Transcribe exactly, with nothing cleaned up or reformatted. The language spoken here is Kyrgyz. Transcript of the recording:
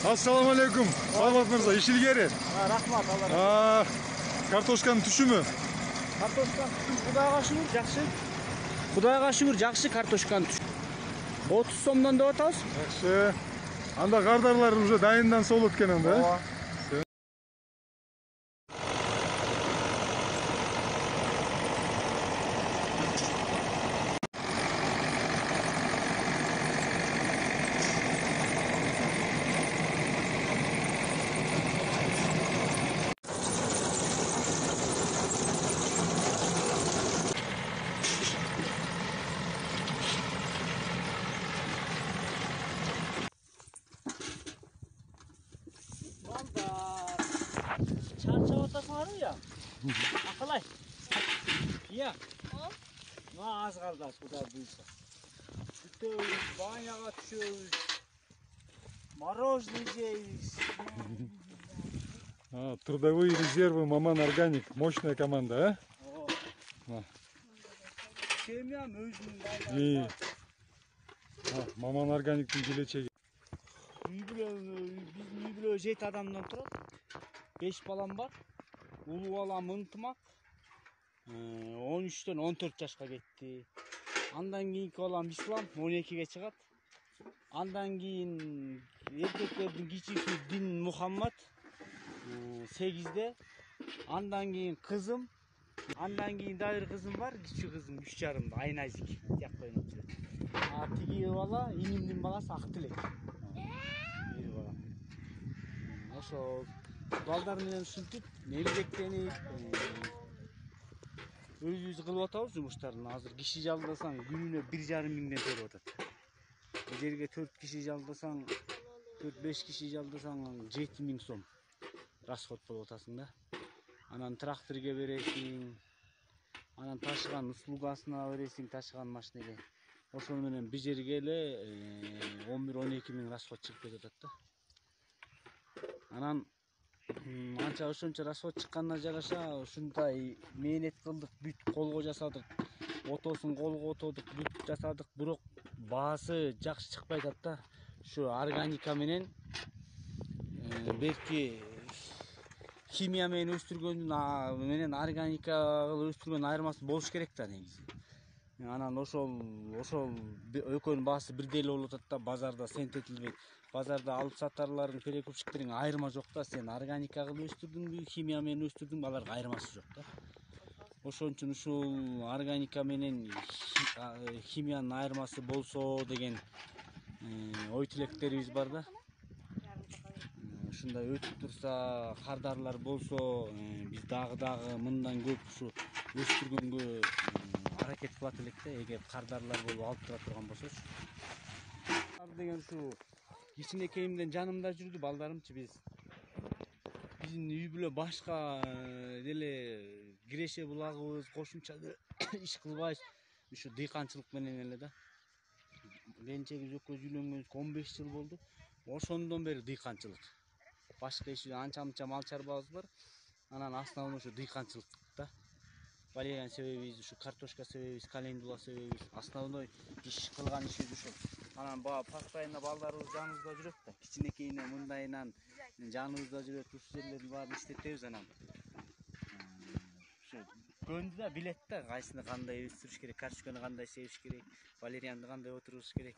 Assalamu alaikum. Саламат мырза, иш илгери. Рахмат, Алла. Картошканын түшүмү? Картошканын түшүмү Кудайга шүгүр жакшы. Кудайга шүгүр жакшы картошканын түшүмү. отуз сомдон деп атабыз. Жакшы. Анда кардарлар уже дайындан солот экен анда. Ооба. Çarşaf atasın var ya. Akalay. Ya. Ne az kaldı bu da buysa. Tutuyoruz, banyaga düşüyoruz. Мороженое жейбиз. Трудовые резервы Маман Органик. Мощная команда, а? Ооба. Семьям өзүнүн байлары. Маман Органиктин келечеги. Үй бүлө, биздин үй бүлө жети адамдан турат. беш балам бар. Улуу балам ынтымак. он үчтөн он төрт жашка кетти. Андан кийинки балам Ислам он экиге чыгат. Андан кийин эркектердин кичүүсү Дин Мухаммад сегизде. Андан кийин кызым. Андан кийин да бир кызым бар, кичүү кызым үч жарымда, Айназик. Жакта ойноп жүрөт. А тиги бала инимдин баласы Актилек. Бир бала. Ошо балдар менен ушинтип эмгектенип өзүбүз кылып атабыз жумуштарын. Азыр киши жалдасаң күнүнө бир жарым миңден төлөп атат. Бул жерге төрт киши жалдасаң, төрт беш киши жалдасаң жети миң сом расход болуп атасың да. Анан тракторге бересиң, анан ташыган услугасына бересиң, ташыган машинеге. Ошол менен бир жерге эле он бир он эки миң расход чыгып кетип атат да. Анан анча ошончо расход чыкканына жараша ушундай мээнет кылдык, бүт колго жасадык, отосун колго отодук, бүт жасадык, бирок баасы жакшы чыкпай атат да. Ушу органика менен берки химия менен өстүргөндүн менен органика кылып өстүргөндүн айырмасы болуш керек да негизи. Анан ошол ошол экөөнүн баасы бирдей эле болуп атат да, базарда сентетилбейт. Базарда алып сатарлардын перекупщиктериң айырма жок да. Сен органика кылып өстүрдүңбү, химия менен өстүрдүңбү, аларга айырмасы жок да. Ошон үчүн ушул органика менен химиянын айырмасы болсо деген ой тилектерибиз бар да. Ушундай өтүп турса, кардарлар болсо, биз дагы дагы мындан көп ушу өстүргөнгө аракет кылат элек да, эгер кардарлар болуп алып тура турган болсочу. Деген ушу кичинекейимден жанымда жүрдү балдарымчы. Биз биздин үй бүлө башка деле киреше булагыбыз, кошумча иш кылбайбыз. Ушу дыйканчылык менен эле да. Келинчегибиз экөөбүз үйлөнгөнүбүзгө он беш жыл болду. Ошондон бери дыйканчылык. Башка иш анча мынча мал чарбабыз бар. Анан основной ушу дыйканчылык да. Валериян себебибиз ушу картошка себебибиз, календула себебибиз, основной иш кылган ишибиз ушул. Анан баягы постоянно балдарыбыз жаныбызда жүрөт да. Кичинекейинен мындайынан жаныбызда жүрөт, ушул жерлердин баарын иштетебиз анан. Ушу көндү да билет да, кайсыны кандай өстүрүш керек, картошканы кандай себиш керек, валериянды кандай отургузуш керек.